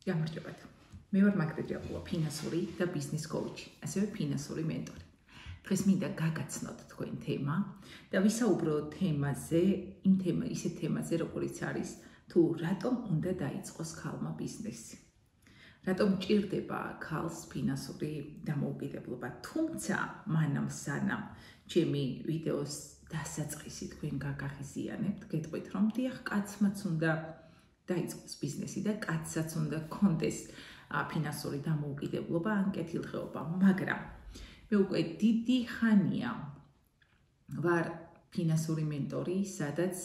გამარჯობათ. მე ვარ მაგდრე ჭაპუა, ფინანსური და ბიზნეს კოუჩი, ასევე ფინანსური მენტორი. დღეს მინდა გაგაცნოთ თქვენ თემა და ვისაუბროთ თემაზე, ისეთ თემაზე, როგორიც არის თუ რატომ უნდა დაიწყოს ქალმა ბიზნესი. რატომ ჭირდება ქალს ფინანსური დამოუკიდებლობა. თუმცა მანამ სანამ ჩემი ვიდეოს დასაწყისი თქვენ გაგაღიზიანებთ, გეტყვით რომ დიახ, კაცმაც უნდა დაიწყოს ბიზნესი და კაცსაც უნდა კონდეს ფინანსური დამოუკიდებლობა ან კეთილდღეობა, მაგრამ მე უკვე დიდი ხანია ვარ ფინანსური მენტორი, სადაც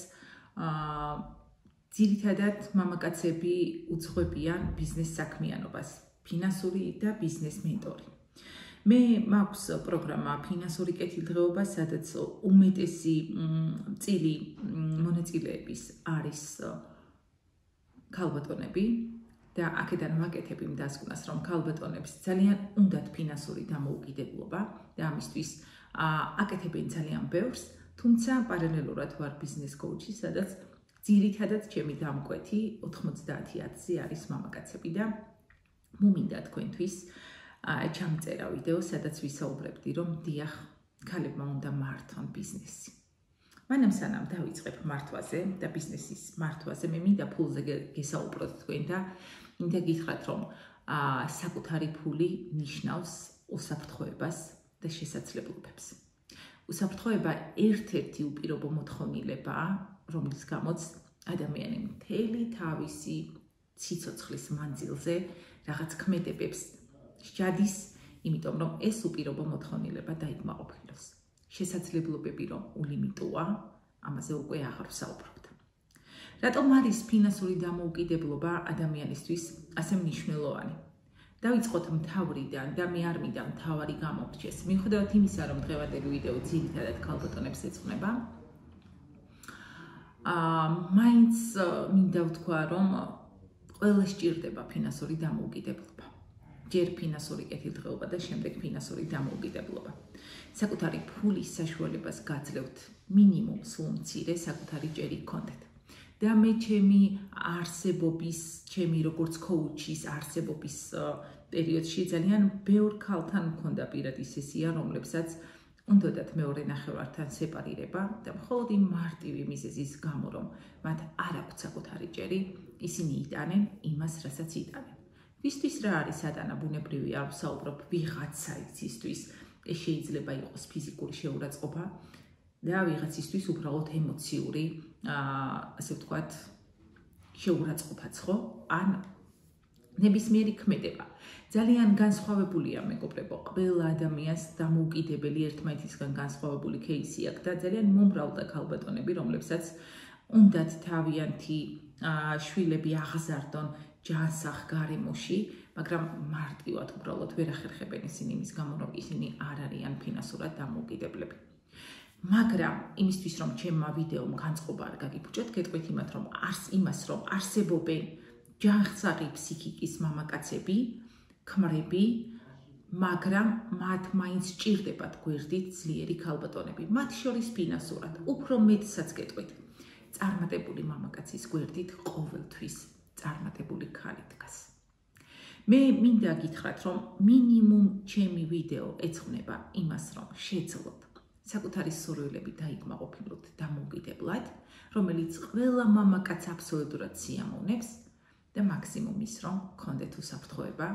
ძირითადად მამაკაცები უძღვებიან ბიზნეს საქმიანობას, ფინანსური და ბიზნეს მენტორი. მე მაქვს პროგრამა ფინანსური კეთილდღეობა, სადაც უმეტესი წილი მონაწილეების არის ქალბატონები და აქედან ვაკეთებ იმ დასკვნას, რომ ქალბატონებს ძალიან უნდათ ფინანსური დამოუკიდებლობა და ამისთვის აკეთებენ ძალიან ბევრს, თუმცა პარალელურად ვარ ბიზნეს კოუჩი, სადაც ძირითადად ჩემი დამკვეთი 90%-ზე არის მამაკაცები და მომინდა თქვენთვის ჩამწერა ვიდეო, სადაც ვისაუბრებდი, რომ დიახ, ქალებმა უნდა მართონ ბიზნესი. მანამ სანამ დავიწყებ მართვაზე და ბიზნესის მართვაზე, მე მინდა ფულზე გესაუბროთ თქვენ და მინდა გითხრათ, რომ საკუთარი ფული ნიშნავს უსაფრთხოებას და შესაძლებლობებს. უსაფრთხოება ერთ-ერთი უპირობო მოთხოვნილებაა, რომლის გამოც ადამიანი მთელი თავისი სიცოცხლის მანძილზე რაღაც ქმედებებს შედის, იმიტომ რომ ეს უპირობო მოთხოვნილება დაიკმაყოფილოს. შესაძლებლობები რომ ულიმიტოა, ამაზე უკვე აღარ ვსაუბრობთ. რატომ არის ფინანსური დამოუკიდებლობა ადამიანისთვის ასე მნიშვნელოვანი? დავიწყოთ მთავრიდან და მე არ მინდა მთავარი გამორჩეს. მიუხედავად იმისა, რომ დღევანდელი ვიდეო ძირითადად ქალბატონებს ეძღვნება, მაინც მინდა ვთქვა, რომ ყველას ჭირდება ფინანსური დამოუკიდებლობა. ჯერ ფინანსური კეთილდღეობა და შემდეგ ფინანსური დამოუკიდებლობა. საკუთარი ფულის საშუალებას გაძლევთ მინიმუმ სულ მცირე საკუთარი ჭერი გქონდეთ. და მე ჩემი არსებობის, ჩემი როგორც კოუჩის არსებობის პერიოდში ძალიან ბევრ ქალთან მქონდა პირადი სესია, რომლებსაც უნდათ მეორე ნახევართან სეპარირება და მხოლოდ იმ მარტივი მიზეზის გამო, რომ მათ არ აქვთ საკუთარი ჭერი, ისინი იტანენ იმას, რასაც იტანენ. ვისთვის რა არის ატანა ბუნებრივი, არ ვსაუბრობ ვიღაცა ისთვის, ეს შეიძლება იყოს ფიზიკური შეურაცხყოფა და ვიღაცისთვის უბრალოდ ემოციური, ასე ვთქვათ, შეურაცხყოფაც ხო? ან ნებისმიერი ქმედება. ძალიან განსხვავებულია, მეგობრებო, ყველა ადამიანს დამოუკიდებელი ერთმანეთისგან განსხვავებული кейსი აქვს და ძალიან მომრავლდა ქალბატონები, რომლებსაც უნდათ თავიანთი შვილები აღზარდონ ჯანსაღ გარემოში, მაგრამ მარტივად უბრალოდ ვერ ახერხებენ ისინი იმის გამო, რომ ისინი არ არიან ფინანსურად დამოუკიდებლები. მაგრამ იმისთვის, რომ ჩემმა ვიდეომ განწყობა არ გაგიბუჭოთ, გეტყვით იმას, რომ არსებობენ ჯანსაღი ფსიქიკის მამაკაცები, ქმრები, მაგრამ მათ მაინც ჭირდებათ გვერდით ძლიერი ქალბატონები. მათ შორის ფინანსურად უფრო მეტსაც გეტყვით. წარმატებული მამაკაცის გვერდით ყოველთვის წარმატებული ქალი დგას. მე მინდა გითხრათ, რომ მინიმუმ ჩემი ვიდეო ეძღვნება იმას, რომ შეძლოთ საკუთარი სურვილები დაიკმაყოფილოთ დამოუკიდებლად, რომელიც ყველა მამაკაც აბსოლუტურად სიამოვნებს და მაქსიმუმ ის, რომ გქონდეთ უსაფრთხოება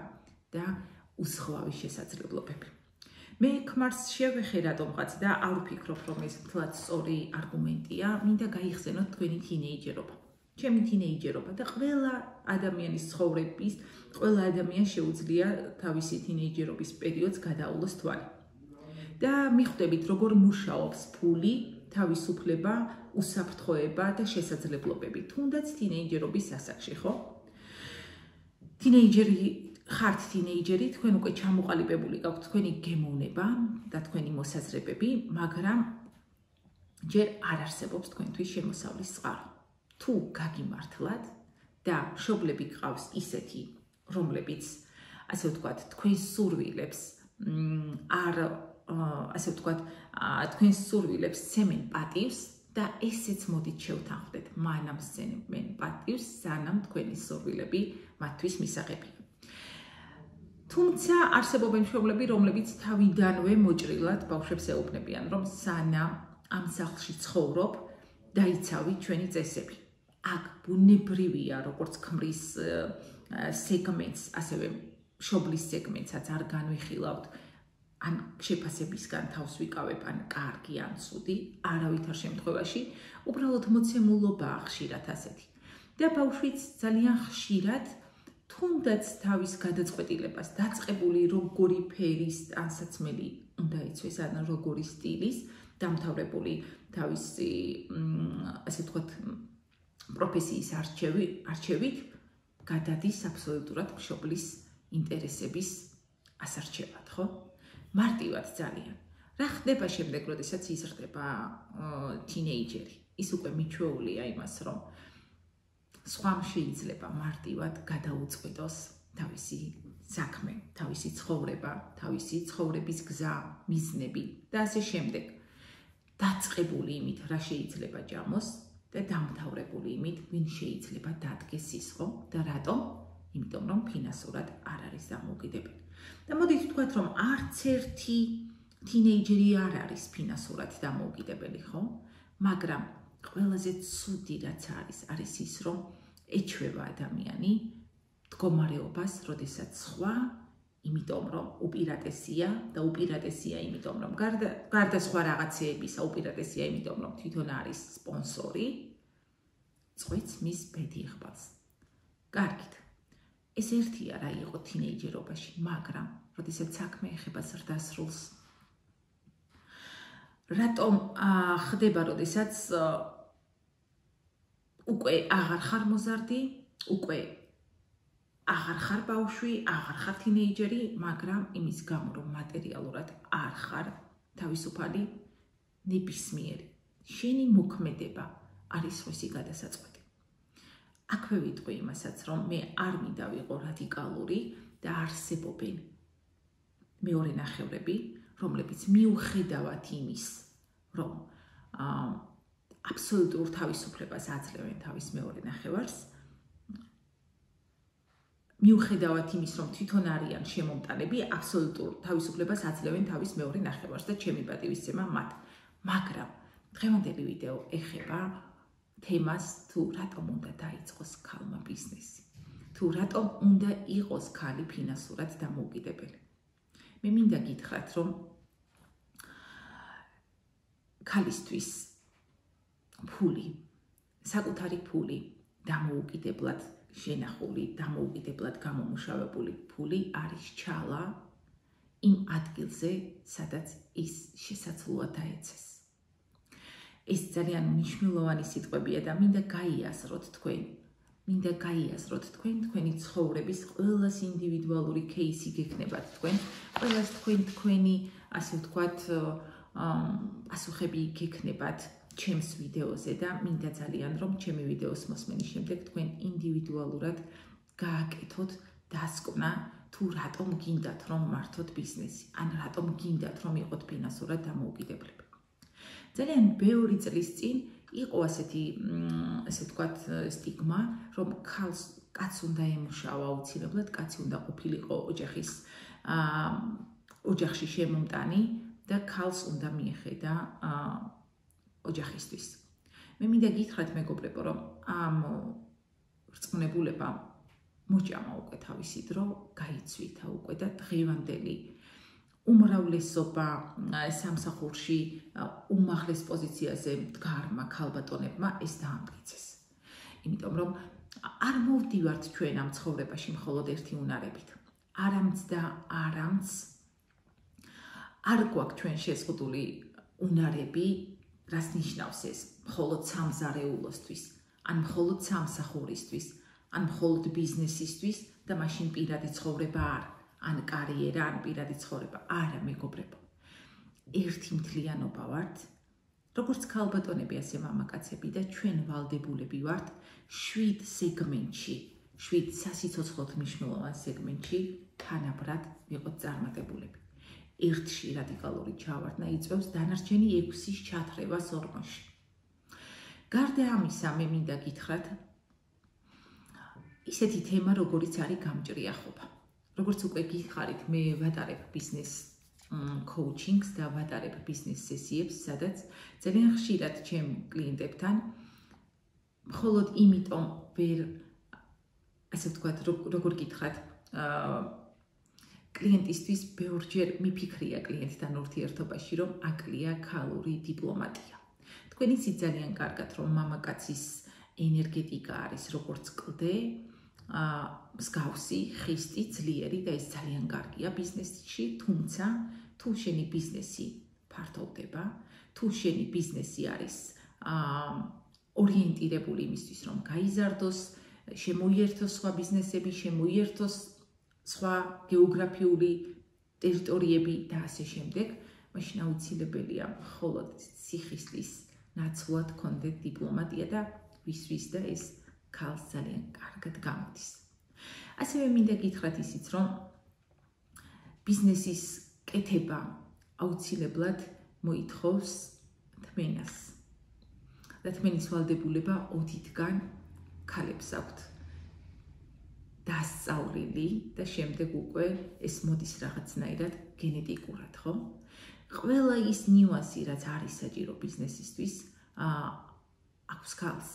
და უსხვავი შესაძლებლობები. მე ქმარს შევეხე რატომღაც და არ ვფიქრობ, რომ ეს მთლად სწორი არგუმენტია, მინდა გაიხსენოთ თქვენი თინეიჯერობა. ჩემი თინეიჯერობა და ყველა ადამიანის ცხოვრების, ყველა ადამიანს შეუძლია თავისი თინეიჯერობის პერიოდს გადაავლოს თვალი. და მიხვდებით, როგორ მუშაობს ფული, თავისუფლება, უსაფრთხოება და შესაძლებლობები, თუნდაც თინეიჯერობის ასაკში, ხო? ხართ თინეიჯერი, თქვენ უკვე ჩამოყალიბებული გაქვთ თქვენი გემოვნება და თქვენი მოსაზრებები, მაგრამ ჯერ არ არსებობს თქვენთვის შემოსავლის წყარო. თუ გაგიმართლათ და მშობლები გყავს ისეთი, რომლებიც, ასე ვთქვათ, თქვენს სურვილებს არ ასე ვთქვათ, თქვენს სურვილებს ცემენ პატივს და ესეც მოდით შევთანხმდეთ მანამ სცემენ პატივს, სანამ თქვენი სურვილები მათთვის მისაღებია. თუმცა არსებობენ მშობლები, რომლებიც თავიდანვე მოჭრილად ბავშვებს ეუბნებიან, რომ სანამ ამ სახლში ცხოვრობ, დაიცავი ჩვენი წესები. აქ ბუნებრივია, როგორც ქმრის სეგმენტს, ასევე მშობლის სეგმენტსაც არ განვიხილავთ, ან შეფასებისგან თავს ვიკავებ, ან კარგი, ან ცუდი, არავითარ შემთხვევაში, უბრალოდ მოცემულობაა ხშირად ასეთი. და ბავშვიც ძალიან ხშირად თუნდაც თავის გადაწყვეტილებას დაწყებული როგორი ფერის ტანსაცმელი უნდა იცვეს, ან როგორი სტილის, დამთავრებული თავისი, ასე ვთქვათ, პროფესიის არჩევით, გადადის აბსოლუტურად მშობლის ინტერესების ასარჩევად, ხო? მარტივად ძალიან. რა ხდება შემდეგ, როდესაც იზრდება თინეიჯერი? ის უკვე მიჩვეულია იმას, რომ სხვამ შეიძლება მარტივად გადაუწყვეტოს თავისი საქმე, თავისი ცხოვრება, თავისი ცხოვრების გზა, მიზნები და ასე შემდეგ. დაწყებული იმით, რა შეიძლება ჯამოს და დამთავრებული იმით, ვინ შეიძლება დადგეს სისხლო და რატომ? იმიტომ რომ ფინანსურად არ არის დამოუკიდებელი. და მოდით ვთქვათ, რომ არც ერთი თინეიჯერი არ არის ფინანსურად დამოუკიდებელი, ხო? მაგრამ ყველაზე ცუდი რაც არის ის, რომ ეჩვევა ადამიანი მდგომარეობას, როდესაც სხვა, იმიტომ რომ უპირატესია და უპირატესია იმიტომ რომ გარდა სხვა რაღაცეებისა, უპირატესია იმიტომ რომ თვითონ არის სპონსორი, წვეთს მის ბედი იღბალს. კარგით. ეს ერთია რა იყო თინეიჯერობაში, მაგრამ როდესაც საქმე ეხება ზრდასრულს, რატომ ხდება, როდესაც უკვე აღარ ხარ მოზარდი, უკვე აღარ ხარ ბავშვი, აღარ ხარ თინეიჯერი, მაგრამ იმის გამო, რომ მატერიალურად არ ხარ თავისუფალი, ნებისმიერი. შენი მოქმედება არის სხვისი გადასაწყვეტი. აქვე ვიტყვი იმასაც, რომ მე არ მინდა ვიყო რადიკალური და არსებობენ მეორე ნახევრები, რომლებიც მიუხედავად იმის, რომ აბსოლუტურ თავისუფლებას აძლევენ თავის მეორე ნახევარს, მიუხედავად იმის, რომ თვითონ არიან შემომტანები, აბსოლუტურ თავისუფლებას აძლევენ თავის მეორე ნახევარს და ჩემი პატივისცემა მათ. მაგრამ დღევანდელი ვიდეო ეხება თემას, თუ რატომ უნდა დაიწყოს ქალმა ბიზნესი, თუ რატომ უნდა იყოს ქალი ფინანსურად დამოუკიდებელი. მე მინდა გითხრათ, რომ ქალისთვის ფული, საკუთარი ფული, დამოუკიდებლად შენახული, დამოუკიდებლად გამომუშავებული ფული არის ჩალა იმ ადგილზე, სადაც ის შესაძლოა დაეცეს. ეს ძალიან მნიშვნელოვანი სიტყვებია და მინდა გაიაზროთ თქვენ. მინდა გაიაზროთ თქვენი ცხოვრების ყველას ინდივიდუალური кейსი გექნებათ თქვენ, ყველას თქვენი, ასე ვთქვათ, პასუხები გექნებათ ჩემს ვიდეოზე და მინდა ძალიან რომ ჩემი ვიდეოს მოსმენის შემდეგ თქვენ ინდივიდუალურად გააკეთოთ დასკვნა თუ რატომ გინდათ რომ მართოთ ბიზნესი, ან რატომ გინდათ რომ იყოთ ფინანსურად დამოუკიდებლები. ძალიან ბევრი წლის წინ იყო ასეთი, ასე ვთქვათ, სტიგმა, რომ კაცს უნდა ემუშავა აუცილებლად, კაცი უნდა ყოფილიყო ოჯახში შემომტანი და ქალს უნდა მიეხედა ოჯახისთვის. მე მინდა გითხრათ მეგობრებო, რომ ამ რწმუნებულებამ მოჭამა უკვე თავისი დრო, გაიცვითა უკვე და დღევანდელი უმრავლესობა სამსახურში უმაღლეს პოზიციაზე მდგარმა ქალბატონებმა ეს დაამტკიცეს. იმიტომ რომ არ მოვდივართ ჩვენ ამ ცხოვრებაში მხოლოდ ერთი უნარებით. არამც და არამც არ გვაქვს ჩვენ შეზღუდული უნარები, რას ნიშნავს ეს? მხოლოდ სამზარეულოსთვის, ან მხოლოდ სამსახურისთვის, ან მხოლოდ ბიზნესისთვის და მაშინ პირადი ცხოვრება არ, ან კარიერა, ან პირადი ცხოვრება. არა, მეგობრებო. ერთი მთლიანობა ვართ, როგორც ქალბატონები, ასე მამაკაცები და ჩვენ ვალდებულები ვართ 7 სეგმენტში, 7 სასიცოცხლოდ მნიშვნელოვან სეგმენტში თანაბრად ვიყოთ წარმატებულები. ერთში რადიკალური ჩავარდნა იწვევს დანარჩენი 6-ის ჩათრევას ორმოში. გარდა ამისა, მე მინდა გითხრათ ისეთი თემა, როგორიც არის გამჭრიახობა. როგორც უკვე გითხარით, მე ვატარებ ბიზნეს coaching-ს და ვატარებ ბიზნეს სესიებს, სადაც ძალიან ხშირად ჩემ კლიენტებთან მხოლოდ იმიტომ ვერ ასე ვთქვათ, როგორ გითხრათ, კლიენტისთვის ბევრჯერ მიფიქრია კლიენტთან ურთიერთობაში, რომ აკლია ქალური დიპლომატია. თქვენ იცით ძალიან კარგად, რომ მამაკაცის ენერგეტიკა არის როგორც კლდე, მსგავსი, ხისტი, ძლიერი და ეს ძალიან კარგია ბიზნესში, თუმცა თუ შენი ბიზნესი ფართოვდება, თუ შენი ბიზნესი არის ორიენტირებული იმისთვის, რომ გაიზარდოს, შემოიერთოს სხვა ბიზნესები, შემოიერთოს სხვა გეოგრაფიული ტერიტორიები და ასე შემდეგ, მაშინ აუცილებელია მხოლოდ სიხისტის ნაცვლად გქონდეთ დიპლომატია და ვის და ეს ქალს ძალიან კარგად გამოდის. ასევე მინდა გითხრათ ისიც, რომ ბიზნესის კეთება აუცილებლად მოითხოვს თმენას. და თმენის ვალდებულება ოდითგან ქალებს აქვთ დასწავლილი და შემდეგ უკვე ეს მოდის რაღაცნაირად გენეტიკურად, ხო? ყველა ის ნიუანსი, რაც არის საჭირო ბიზნესისთვის, აქვს ქალს.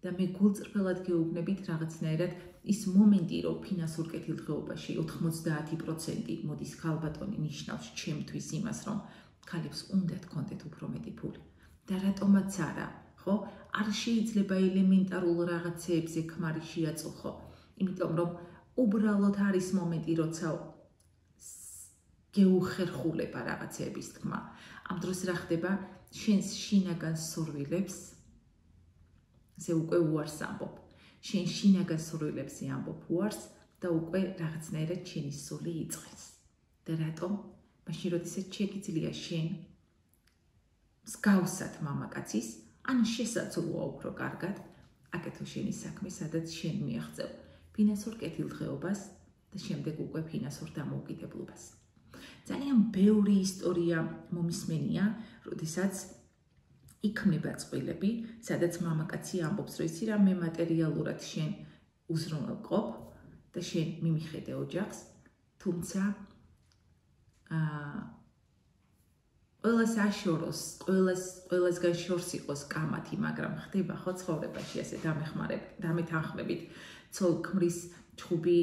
და მე გულწრფელად გეუბნებით რაღაცნაირად ის მომენტი, რომ ფინანსურ კეთილდღეობაში 90% მოდის ქალბატონი ნიშნავს ჩემთვის იმას, რომ ქალებს უნდათ გქონდეთ უფრო მეტი ფული. და რატომაც არა, ხო? არ შეიძლება ელემენტარულ რაღაცეებზე ქმარი შეაწუხო, იმიტომ რომ უბრალოდ არის მომენტი, როცა გეუხერხულება რაღაცეების თქმა. ამ დროს რა ხდება? შენს შინაგან სურვილებს ზე უკვე უარს ამბობ. შენ შინაგან სურვილებზე ამბობ უარს და უკვე რაღაცნაირად შენი სული იწყებს. და რატომ? მაშინ როდესაც შეგიძლია შენ მსგავსად მამაკაცის, ან შესაძლოა უფრო კარგად, აკეთო შენი საქმე, სადაც შენ მიაღწევ ფინანსურ კეთილდღეობას და შემდეგ უკვე ფინანსურ დამოუკიდებლობას. ძალიან ბევრი ისტორია მომისმენია, როდესაც იქმნება წყვილები, სადაც მამაკაცი ამბობს, რომ იცი რა, მე მატერიალურად შენ უზრუნველყოფ და შენ მიმიხედე ოჯახს, თუმცა ყველას აშოროს, ყველასგან შორს იყოს კამათი, მაგრამ ხდება ხო ცხოვრებაში ასე დამეთანხმებით, ცოლ ქმრის ჩხუბი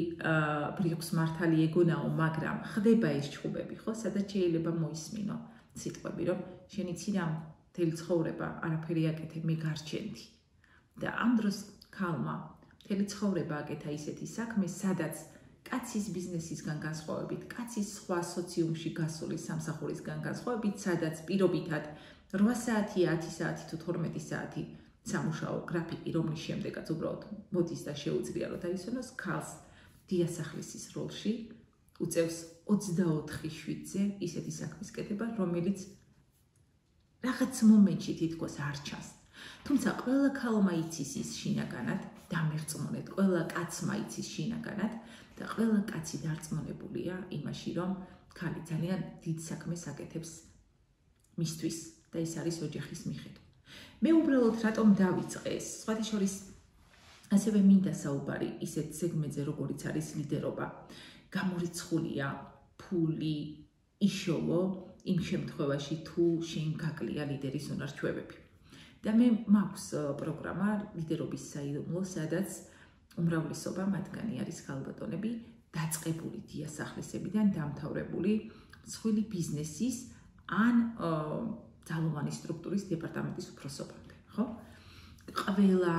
ბრიყვს მართალი ეგონაო, მაგრამ ხდება ეს ჩხუბები, ხო, სადაც შეიძლება მოისმინო სიტყვები, რომ შენი ცირა მთელი ცხოვრება არაფერი აკეთე, მე გარჩენდი. და ამ დროს ქალმა მთელი ცხოვრება აკეთა ისეთი საქმე, სადაც კაცის ბიზნესისგან განსხვავებით, კაცის სხვა სოციუმში გასული სამსახურისგან განსხვავებით, სადაც პირობითად 8 საათი, 10 საათი თუ 12 საათი სამუშაო გრაფიკი, რომლის შემდეგაც უბრალოდ მოდის და შეუძლია რომ დაისვენოს, ქალს დიასახლისის როლში უწევს 24/7-ზე ისეთი საქმის კეთება, რომელიც რაღაც მომენტში თითქოს არ ჩანს. თუმცა ყველა ქალმა იცის ის შინაგანად, დამერწმუნეთ, ყველა კაცმა იცის შინაგანად და ყველა კაცი დარწმუნებულია იმაში, რომ ქალი ძალიან დიდ საქმეს აკეთებს მისთვის და ეს არის ოჯახის მიხედვა. მე უბრალოდ რატომ დავიწყე ეს? სხვათა შორის ასევე მინდა საუბარი ისეთ ზეგმენტზე, როგორიც არის ლიდერობა. გამორიცხულია ფული იშოვო იმ შემთხვევაში, თუ შენ გაკლია ლიდერის უნარ-ჩვევები. და მე მაქვს პროგრამა ლიდერობის საიდუმლო, სადაც უმრავლესობა მათგანი არის ქალბატონები, დაწყებული დიასახლისებიდან დამთავრებული მსხვილი ბიზნესის ან ძალოვანი სტრუქტურის დეპარტამენტის უფროსობამდე, ხო? ყველა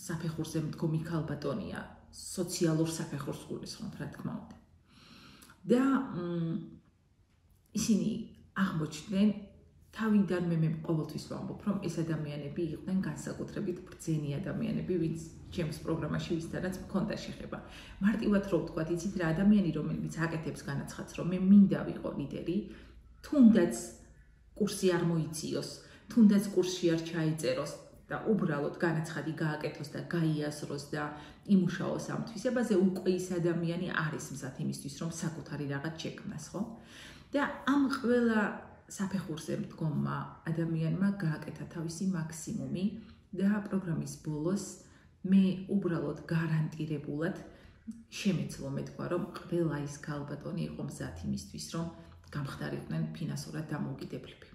საფეხურზე მდგომი ქალბატონია სოციალურ საფეხურს გულისხმობ, რა თქმა უნდა. და ისინი აღმოჩნდნენ, თავიდან მე ყოველთვის ვამბობ, რომ ეს ადამიანები იყვნენ განსაკუთრებით ბრძენი ადამიანები, ვინც ჩემს პროგრამაში ვისთანაც მქონდა შეხება. მარტივად რო ვთქვათ, იცით რა, ადამიანი, რომელიც აკეთებს განაცხადს, რომ მე მინდა ვიყო ლიდერი, თუნდაც კურსი არ მოიციოს, თუნდაც კურსში არ ჩაიწეროს და უბრალოდ განაცხადი გააკეთოს და გაიასროს და იმუშაოს ამ თვისებაზე, უკვე ის ადამიანი არის მზად იმისთვის, რომ საკუთარი რაღაც შექმნას, ხო? და ამ ყველა საფეხურზე მდგომმა ადამიანმა გააკეთა თავისი მაქსიმუმი და პროგრამის ბოლოს მე უბრალოდ გარანტირებულად შემეცლო მეთქვა, რომ ყველა ის ქალბატონი იყო მზად იმისთვის, რომ გამხდარიყვნენ ფინანსურად დამოუკიდებლები.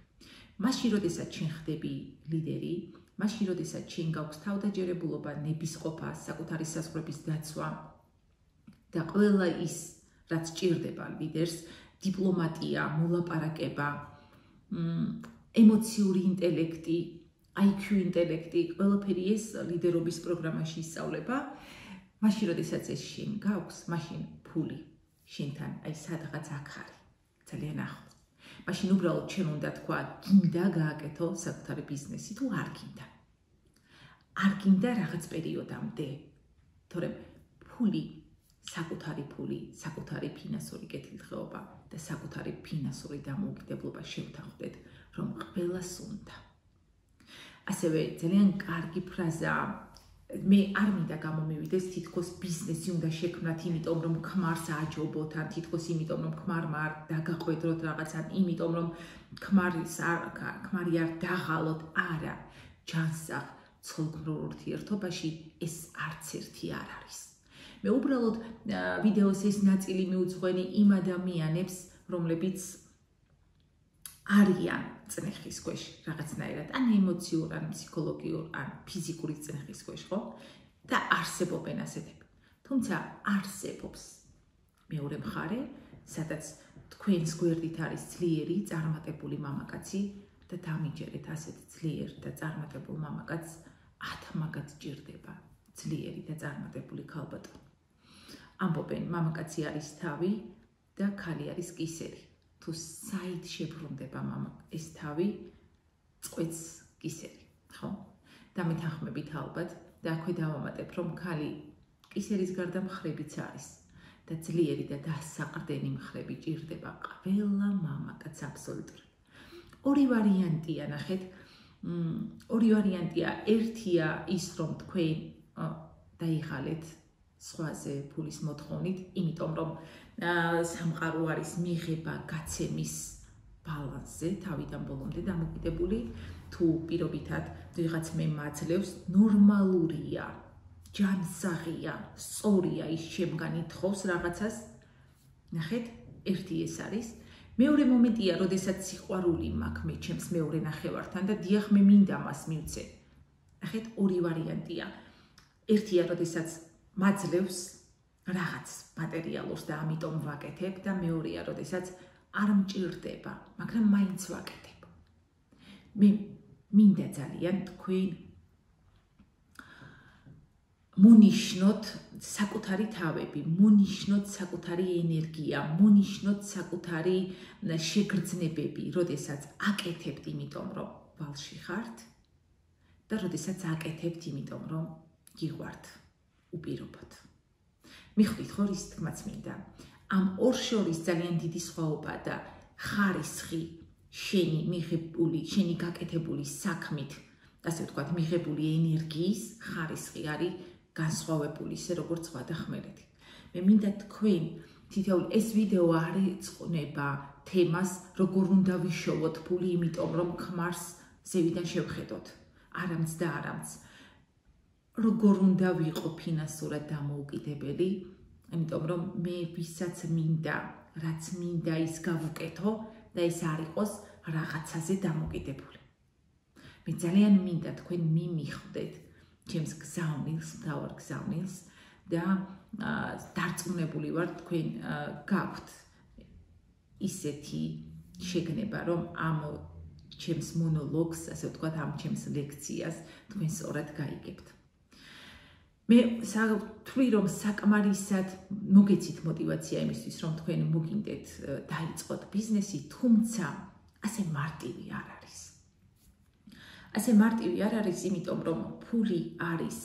მაშინ, როდესაც შენ ხდები ლიდერი, მაშინ, როდესაც შენ გაქვს თავდაჯერებულობა, ნებისყოფა, საკუთარი საზღვრების დაცვა და ყველა ის, რაც ჭირდება ლიდერს, დიპლომატია, მოლაპარაკება, ემოციური ინტელექტი, IQ ინტელექტი, ყველაფერი ეს ლიდერობის პროგრამაში ისწავლება. მაშინ, როდესაც ეს შენ გაქვს, მაშინ ფული შენთან აი სადღაც აქ არის, ძალიან ახლოს. მაშინ უბრალოდ შენ უნდა თქვა, გინდა გააკეთო საკუთარი ბიზნესი თუ არ გინდა. არ გინდა რაღაც პერიოდამდე, თორემ ფული, საკუთარი ფინანსური კეთილდღეობა და საკუთარი ფინანსური დამოუკიდებლობა შევთანხმდეთ, რომ ყველას უნდა. ასევე ძალიან კარგი ფრაზაა, მე არ მინდა გამომივიდეს თითქოს ბიზნესი უნდა შექმნათ, იმიტომ რომ ქმარს აჯობოთ, ან თითქოს იმიტომ რომ ქმარმა არ დაგაყვედროთ რაღაც, ან იმიტომ რომ ქმარი არ დაღალოთ, არა, ჯანსაღ ცოლქმრულ ურთიერთობაში ეს არც ერთი არ არის. მე უბრალოდ ვიდეოს ეს ნაწილი მიუძღვენი იმ ადამიანებს, რომლებიც არიან წნეხის ქვეშ რაღაცნაირად, ან ემოციურ, ან ფსიქოლოგიურ, ან ფიზიკური წნეხის ქვეშ, ხო? და არსებობენ ასეთები. თუმცა არსებობს მეორე მხარე, სადაც თქვენს გვერდით არის ძლიერი, წარმატებული მამაკაცი და დამიჯერეთ ასეთ ძლიერ და წარმატებულ მამაკაცს 10 მაგაც ჭირდება, ძლიერი და წარმატებული ქალბატონი. ამბობენ, მამაკაცი არის თავი და ქალი არის კისერი. თუ საით შებრუნდება ეს თავი, წყვეტს კისერი, ხო? დამეთანხმებით ალბათ და აქვე დავამატებ, რომ ქალი კისერის გარდა მხრებიც არის და ძლიერი და დასაყრდენი მხრები ჭირდება ყველა მამაკაცს აბსოლუტურად. ორი ვარიანტია, ნახეთ, ორი ვარიანტია, ერთია ის, რომ თქვენ დაიღალეთ სხვაზე ფულის მოთხოვნით, იმიტომ რომ სამყარო არის მიღება გაცემის ბალანსზე, თავიდან ბოლომდე დამოკიდებული, თუ პირობითად ვიღაც მე მაძლევს, ნორმალურია, ჯანსაღია, სწორია ის შემგან ითხოვს რაღაცას. ნახეთ, ერთი ეს არის. მეორე მომენტია, როდესაც სიყვარული მაქვს მე ჩემს მეორე ნახევართან და დიახ მე მინდა მას მივცე. ნახეთ, ორი ვარიანტია. ერთია, როდესაც მაძლევს რაღაც მატერიალურს და ამიტომ ვაკეთებ და მეორეა, როდესაც არ მჭირდება, მაგრამ მაინც ვაკეთებ. მე მინდა ძალიან თქვენ მონიშნოთ საკუთარი თავები, მონიშნოთ საკუთარი ენერგია, მონიშნოთ საკუთარი შეგრძნებები, როდესაც აკეთებთ, იმიტომ რომ ვალში ხართ და როდესაც აკეთებთ, იმიტომ რომ გიყვართ უპირობოდ. მიხვდით ხო რის თქმაც მინდა. ამ ორ შორის ძალიან დიდი სხვაობა და ხარისხი შენი მიღებული, შენი გაკეთებული საქმით, ასე ვთქვათ, მიღებული ენერგიის ხარისხი არის განსხვავებული, ისე როგორც სხვა და ხმელეთი. მე მინდა თქვენ თითოეულ ეს ვიდეო არ ეწყნება თემას, როგორ უნდა ვიშოვოთ ფული, იმიტომ რომ ქმარს ზევიდან შევხედოთ. არამც და არამც. როგორ უნდა ვიყო ფინანსურად დამოუკიდებელი, იმიტომ რომ მე ვისაც მინდა, რაც მინდა ის გავუკეთო და ეს არ იყოს რაღაცაზე დამოკიდებული. მე ძალიან მინდა თქვენ მიმიხვდეთ ჩემს გზავნილს, მთავარ გზავნილს და დარწმუნებული ვარ თქვენ გაქვთ ისეთი შეგნება, რომ ამ ჩემს მონოლოგს, ასე ვთქვათ, ამ ჩემს ლექციას თქვენ სწორად გაიგებთ. მე ვთვლი, რომ საკმარისად მოგეცით მოტივაცია იმისთვის, რომ თქვენ მოგინდეთ დაიწყოთ ბიზნესი, თუმცა ასე მარტივი არ არის. ასე მარტივი არ არის, იმიტომ რომ ფული არის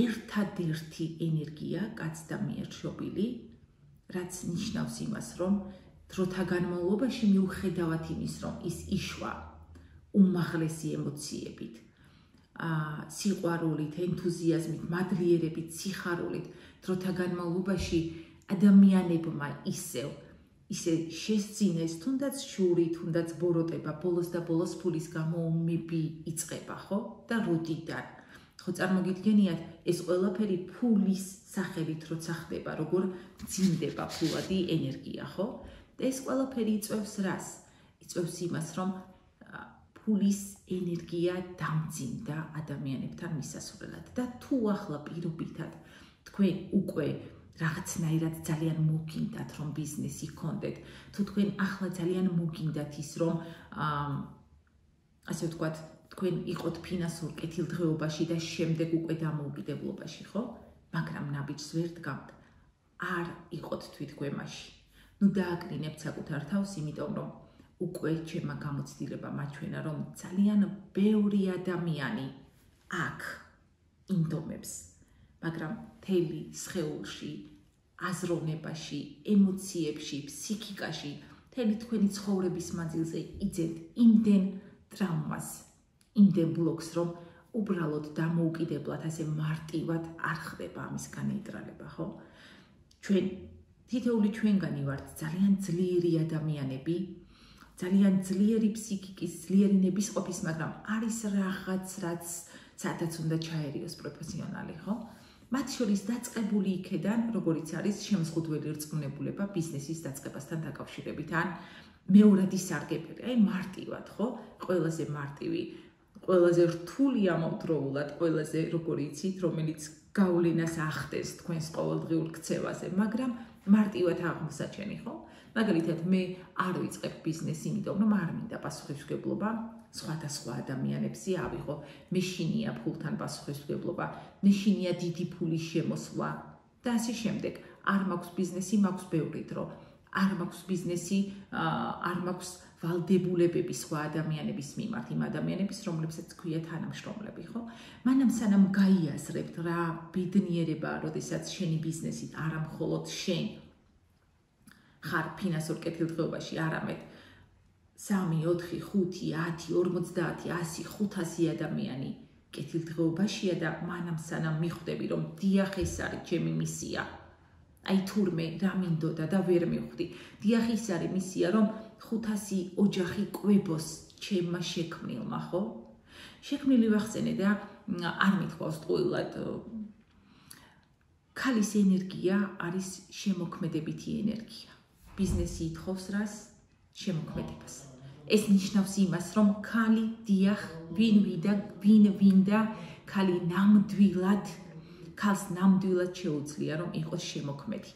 ერთადერთი ენერგია კაცთა მიერ შობილი, რაც ნიშნავს იმას, რომ დროთა განმავლობაში მიუხედავად იმის, რომ ის იშვა უმაღლესი ემოციებით, სიყვარულით, ენთუზიაზმით, მადლიერებით, სიხარულით, დროთა განმავლობაში ადამიანებმა ისევ ისე შესძინეს, თუნდაც შური, თუნდაც ბოროტება, ბოლოს და ბოლოს ფულის გამო ომები იწყება, ხო? და როდიდან? ხო, წარმოგიდგენიათ, ეს ყველაფერი ფულის სახელით როცა ხდება, როგორ მძიმდება ფულადი ენერგია, ხო? და ეს ყველაფერი იწვევს რას? იწვევს იმას, რომ ფულის ენერგია დამძიმდა ადამიანებთან მისასვლელად და თუ ახლა პირობითად თქვენ უკვე რაღაცნაირად ძალიან მოგინდათ რომ ბიზნესი გქონდეთ, თუ თქვენ ახლა ძალიან მოგინდათ ის რომ ასე ვთქვათ, თქვენ იყოთ ფინანსურ კეთილდღეობაში და შემდეგ უკვე დამოუკიდებლობაში, ხო? მაგრამ ნაბიჯს ვერ დგამთ. არ იყოთ თვითგვემაში. ნუ დააკრინებთ საკუთარ თავს, იმიტომ რომ უკვე ჩემმა გამოცდილება მაჩვენა, რომ ძალიან ბევრი ადამიანი აქ ინდომებს, მაგრამ მთელი სხეულში, აზროვნებაში, ემოციებში, ფსიქიკაში, მთელი თქვენი ცხოვრების მანძილზე იძენთ იმდენ ტრაუმას, იმდენ ბლოკს, რომ უბრალოდ დამოუკიდებლად ასე მარტივად არ ხდება ამის განეიტრალება, ხო? ჩვენ თითოეული ჩვენგანი ვართ ძალიან ძლიერი ადამიანები, ძალიან ძლიერი ფსიქიკის, ძლიერი ნებისყოფის, მაგრამ არის რაღაც, სადაც უნდა ჩაერიოს პროფესიონალი, ხო? მათ შორის დაწყებული იქედან, როგორიც არის შემოზღუდველი რწმუნებულება ბიზნესის დაწყებასთან დაკავშირებით, ან მეორადი სარგებელი, აი მარტივად, ხო? ყველაზე მარტივი, ყველაზე რთული ამავდროულად, ყველაზე როგორი იცით, რომელიც გავლენას ახდენს თქვენს ყოველდღიურ ქცევაზე, მაგრამ მარტივად აღმოსაჩენი, ხო? მაგალითად, მე არ ვიწყებ ბიზნესი, იმიტომ რომ არ მინდა პასუხისმგებლობა სხვადასხვა ადამიანებზე ავიღო. მე შინია ფულთან პასუხისმგებლობა, მე შინია დიდი ფულის შემოსვლა და ასე შემდეგ. არ მაქვს ბიზნესი, მაქვს ბევრი დრო. არ მაქვს ბიზნესი, არ მაქვს ვალდებულებები სხვა ადამიანების მიმართ, იმ ადამიანების, რომლებსაც ქვია თანამშრომლები, ხო? მანამ სანამ გაიაზრებთ რა ბედნიერებაა, როდესაც შენი ბიზნესით არა მხოლოდ შენ ხარ ფინანსურ კეთილდღეობაში, არამედ 3, 4, 5, 10, 50, 100, 500 ადამიანი კეთილდღეობაშია და მანამ სანამ მიხვდები, რომ დიახ, ეს არის ჩემი მისია. აი თურმე რა მინდოდა და ვერ მივხვდი. დიახ, ის არის მისია, რომ 500 ოჯახი კვებოს ჩემმა შექმნილმა, ხო? შექმნილი ვახსენე და არ მithქვავს ტყუილად. ქალის ენერგია არის შემოქმედებითი ენერგია. ბიზნესი ითხოვს რას? შემოქმედებას. ეს ნიშნავს იმას, რომ ქალი დიახ, ვინ ვინდა, ქალი ქალს ნამდვილად შეუძლია, რომ იყოს შემოქმედი.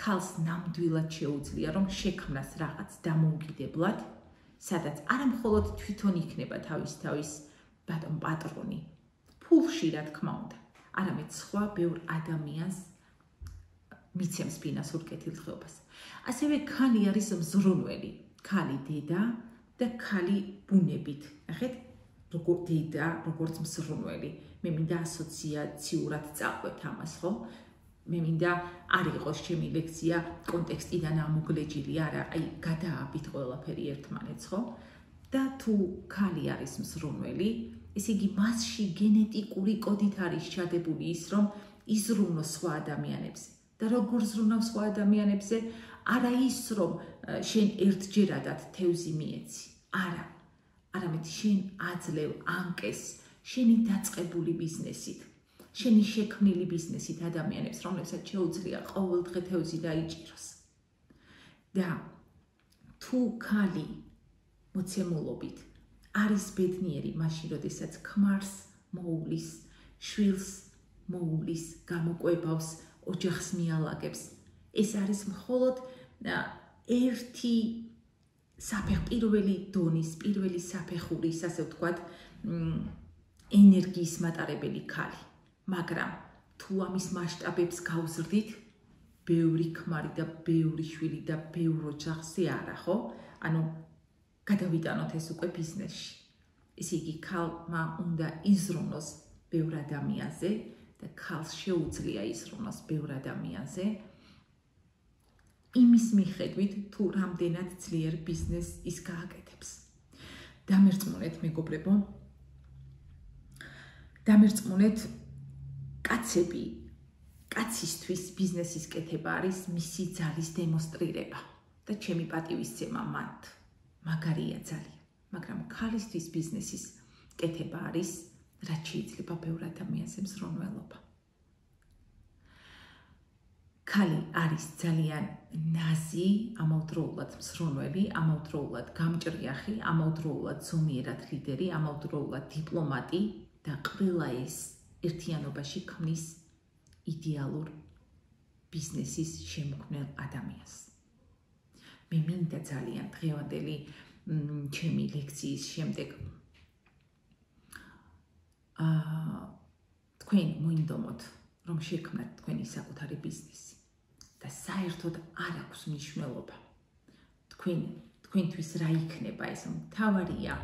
ქალს ნამდვილად შეუძლია, რომ შექმნას რაღაც დამოუკიდებლად, სადაც არა მხოლოდ თვითონ იქნება თავის ბატონ პატრონი, ფულში რა თქმა უნდა, არამედ სხვა ბევრ ადამიანს მიცემს ფინანსურ კეთილდღეობას. ასევე ქალი არის მზრუნველი, ქალი დედა და ქალი ბუნებით. ნახეთ, როგორ დედა, როგორც მზრუნველი. მე მინდა ასოციაციურად წაყვეთ ამას, ხო? მე მინდა არ იყოს ჩემი ლექცია კონტექსტიდან ამოგლეჯილი, არა, აი გადააბით ყველაფერი ერთმანეთს, ხო? და თუ ქალი არის მზრუნველი, ესე იგი მასში გენეტიკური კოდით არის ჩადებული ის, რომ იზრუნოს სხვა ადამიანებზე. და როგორ ზრუნავს სხვა ადამიანებზე? არა ის, რომ შენ ერთჯერადად თევზი მიეცი. არა. არამედ შენ აძლევ ანკეს შენი დაწყებული ბიზნესით, შენი შექმნილი ბიზნესით ადამიანებს, რომლებსაც შეუძლია ყოველდღე თევზი დაიჭიროს. და თუ ქალი მოცემულობით არის ბედნიერი მაშინ, როდესაც ქმარს მოუვლის, შვილს მოუვლის, გამოკვებავს, ოჯახს მიალაგებს. ეს არის მხოლოდ ერთი პირველი დონის, პირველი საფეხურის, ასე ვთქვათ, ენერგიის მატარებელი ქალი. მაგრამ თუ ამის მასშტაბებს გავზრდით, ბევრი ქმარი და ბევრი შვილი და ბევრ ოჯახზე არა, ხო? ანუ გადავიტანოთ ეს უკვე ბიზნესში. ესე იგი, ქალმა უნდა იზრუნოს ბევრ ადამიანზე და ქალს შეუძლია იზრუნოს ბევრ ადამიანზე. იმის მიხედვით, თუ რამდენად ძლიერ ბიზნესს ის გააკეთებს. დამერწმუნეთ, მეგობრებო, დამერწმუნეთ, კაცისთვის ბიზნესის კეთება არის მისი ძალის დემონსტრირება. და ჩემი პატივისცემა მათ მაგარია ძალიან, მაგრამ ქალისთვის ბიზნესის კეთება არის, რაც შეიძლება ბევრ ადამიანზე მსრონველობა. ქალი არის ძალიან ნაზი, ამავდროულად მსრონველი, ამავდროულად გამჭრიახი, ამავდროულად ზომიერად ლიდერი, ამავდროულად დიპლომატი და ყველა ეს ერთიანობაში ქმნის იდეალურ ბიზნესის შემქმნელ ადამიანს. მე მინდა ძალიან დღევანდელი ჩემი ლექციის შემდეგ თქვენ მოინდომოთ, რომ შექმნათ თქვენი საკუთარი ბიზნესი და საერთოდ არ აქვს მნიშვნელობა თქვენთვის რა იქნება ეს, მთავარია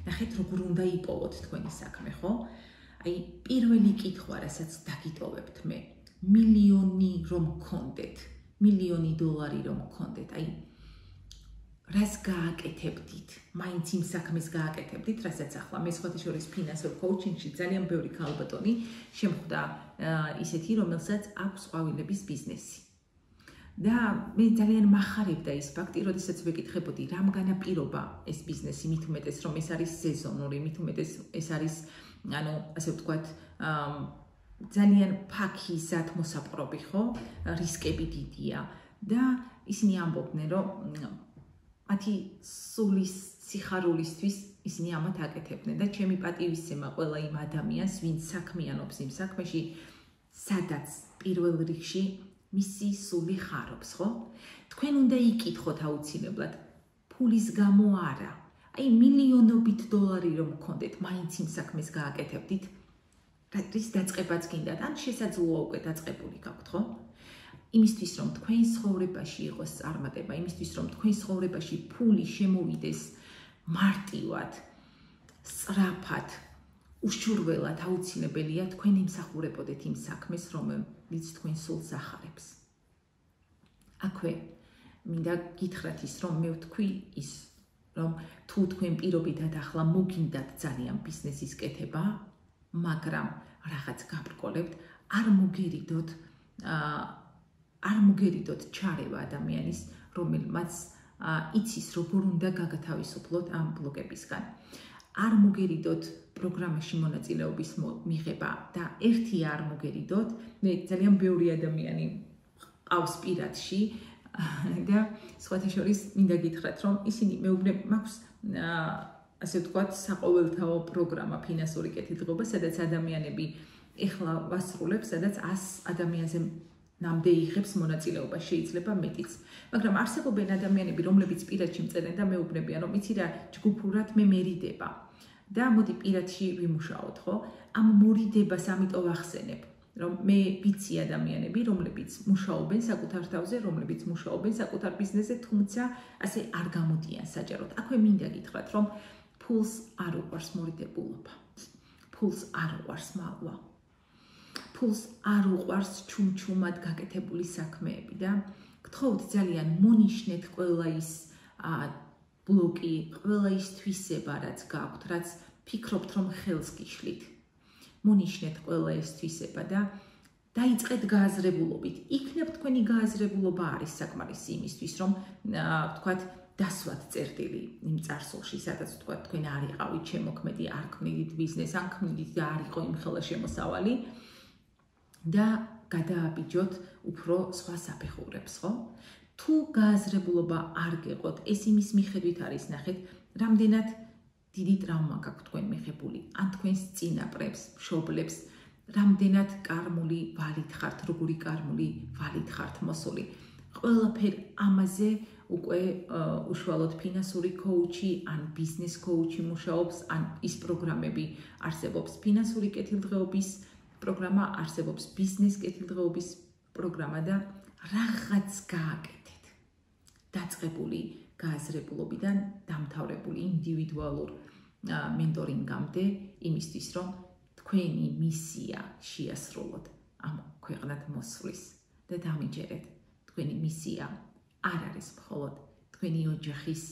ნახეთ როგორ უნდა იპოვოთ თქვენი საქმე, ხო? აი პირველი კითხვა, რასაც დაგიტოვებთ მე, მილიონი რომ გქონდეთ, $1,000,000 რომ გქონდეთ, აი რას გააკეთებდით? მაინც იმ საქმეს გააკეთებდით, რასაც ახლა მე სხვათა შორის ფინანსურ კოუჩინგში ძალიან ბევრი ქალბატონი შემხვდა ისეთი, რომელსაც აქვს ყვავილების ბიზნესი. და მე ძალიან მახარებდა ის ფაქტი, როდესაც ვეკითხებოდი, რამ განაპირობა ეს ბიზნესი, მით უმეტეს რომ ეს არის სეზონური, მით უმეტეს ეს არის, ასე ვთქვათ, ძალიან ფაქი ზათმოსაპყრობი, ხო? რისკები დიდია და ისინი ამბობდნენ, რომ მათი სულის სიხარულისთვის ისინი ამათ აკეთებდნენ და ჩემი პატივისცემა ყველა იმ ადამიანს, ვინც საქმიანობს იმ საქმეში, სადაც პირველ რიგში მისი სული ხარობს, ხო? თქვენ უნდა იკითხოთ აუცილებლად, ფულის გამო არა. აი მილიონობით $, რომ გქონდეთ, მაინც იმ საქმეს გააკეთებდით, რის დაწყებაც გინდათ, ან შესაძლოა უკვე დაწყებული გაქვთ, ხო? იმისთვის რომ თქვენ ცხოვრებაში იყოს წარმატება, იმისთვის რომ თქვენ ცხოვრებაში ფული შემოვიდეს მარტივად, სწრაფად, უშურველად აუცილებელია თქვენ ემსახურებოდეთ იმ საქმეს, რომელიც თქვენ სულს ახარებს. აქვე მინდა გითხრათ ის, რომ მე ვთქვი ის, რომ თუ თქვენ პირობითად ახლა მოგინდათ ძალიან ბიზნესის კეთება, მაგრამ რაღაც გაბრკოლებთ, არ მოგერიდოთ ჩარევა ადამიანის, რომელმაც იცის როგორ უნდა გაგათავისუფლოთ ამ ბლოკებისგან. არ მოგერიდოთ პროგრამაში მონაწილეობის მიღება და ერთი არ მოგერიდოთ, მე ძალიან ბევრი ადამიანი ყავს პირადში და სხვათა შორის მინდა გითხრათ, რომ ისინი მეუბნებ მაქვს ასე ვთქვათ, საყოველთაო პროგრამა ფინანსური კეთილდღეობა, სადაც ადამიანები ეხლა ვასრულებს, სადაც 100 ადამიანზე ნამდე იღებს მონაწილეობა, შეიძლება მეტიც. მაგრამ არსებობენ ადამიანები, რომლებიც პირადში მწერენ და მეუბნებიან, რომ იცი რა, ჯგუფურად მე მერიდება. და მოდი პირადში ვიმუშაოთ, ხო? ამ მორიდებას ამიტომ ვახსენებ, რომ მე ვიცი ადამიანები, რომლებიც მუშაობენ საკუთარ თავზე, რომლებიც მუშაობენ საკუთარ ბიზნესზე, თუმცა ასე არ გამოდიან საჯაროდ. აქვე მინდა გითხრათ, რომ ფულს არ უყვარს მორიდებულობა. ფულს არ უყვარს მალვა. ფულს არ უყვარს ჩუმჩუმად გაკეთებული საქმეები და გთხოვთ ძალიან მონიშნეთ ყველა ის ბლოკი, ყველა ის თვისება, რაც გაქვთ, რაც ფიქრობთ, რომ ხელს გიშლით. მონიშნეთ ყველა ეს თვისება და დაიწყეთ გააზრებულობით. იქნებ თქვენი გააზრებულობა არის საკმარისი იმისთვის, რომ ვთქვათ, დასვათ წერტილი იმ წარსულში, სადაც ვთქვათ, თქვენ არ იყავით შემოქმედი, არ ქმნიდით ბიზნეს, ან ქმნიდით და არ იყო იმ ხელა შემოსავალი და გადააბიჯოთ უფრო სხვა საფეხურებს, ხო? თუ გააზრებულობა არ გეყოთ, ეს იმის მიხედვით არის, ნახეთ, რამდენად დიდი ტრავმა გაქვთ თქვენ მიღებული, ან თქვენს წინაპრებს, მშობლებს, რამდენად კარმული ვალით ხართ, როგორი კარმული ვალით ხართ მოსული. ყველაფერ ამაზე უკვე უშუალოდ ფინანსური კოუჩი, ან ბიზნეს კოუჩი მუშაობს, ან ის პროგრამები არსებობს ფინანსური კეთილდღეობის პროგრამა, არსებობს ბიზნეს კეთილდღეობის პროგრამა და რაღაც გააკეთეთ. დაწყებული გააზრებულობიდან დამთავრებული ინდივიდუალურ მენტორინგამდე იმისთვის, რომ თქვენი მისია შეასრულოთ ამ ქვეყნად მოსვლის და დამიჯერეთ. თქვენი მისია არ არის მხოლოდ თქვენი ოჯახის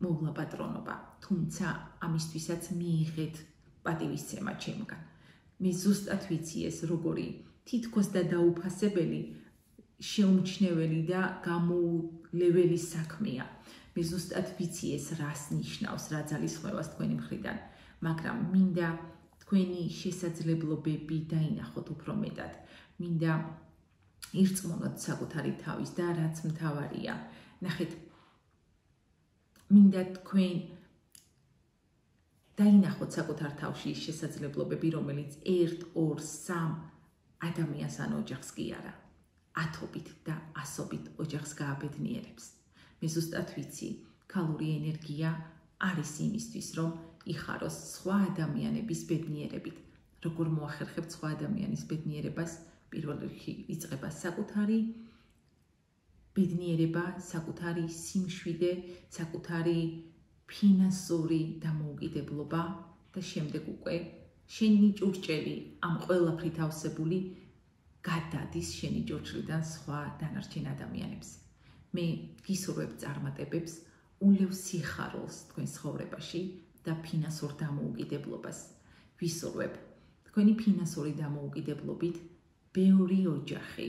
მოვლაპატრონობა, თუმცა ამისთვისაც მიიღეთ პატივისცემა ჩემგან. მე ზუსტად ვიცი ეს როგორი თითქოს და დაუფასებელი შეუმჩნეველი და გამოულეველი საქმეა. მე ზუსტად ვიცი ეს რას ნიშნავს, რა ძალისხმევას თქვენი მხრიდან, მაგრამ მინდა თქვენი შესაძლებლობები დაინახოთ უფრო მეტად. მინდა ირწმუნოთ საკუთარი თავის და რაც მთავარია, ნახეთ, მინდა თქვენ დაინახოთ საკუთარ თავში ის შესაძლებლობები, რომელიც 1, 2, 3 ადამიანს ან ოჯახს კი არა, ათობით და ასობით ოჯახს გააბედნიერებს. მე ზუსტად ვიცი, ქალური ენერგია არის იმისთვის, რომ იხაროს სხვა ადამიანების ბედნიერებით. როგორ მოახერხებთ სხვა ადამიანის ბედნიერებას? პირველ რიგში იწყება საკუთარი ბედნიერება, საკუთარი სიმშვიდე, საკუთარი ფინანსური დამოუკიდებლობა და შემდეგ უკვე შენი ჭურჭელი ამ ყველაფრით ავსებული გადადის შენი ჭურჭლიდან სხვა დანარჩენ ადამიანებს. მე გისურვებ წარმატებებს, ულევ სიხარულს თქვენ ცხოვრებაში და ფინანსურ დამოუკიდებლობას. ვისურვებ თქვენი ფინანსური დამოუკიდებლობით ბევრი ოჯახი,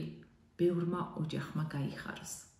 ბევრმა ოჯახმა გაიხაროს.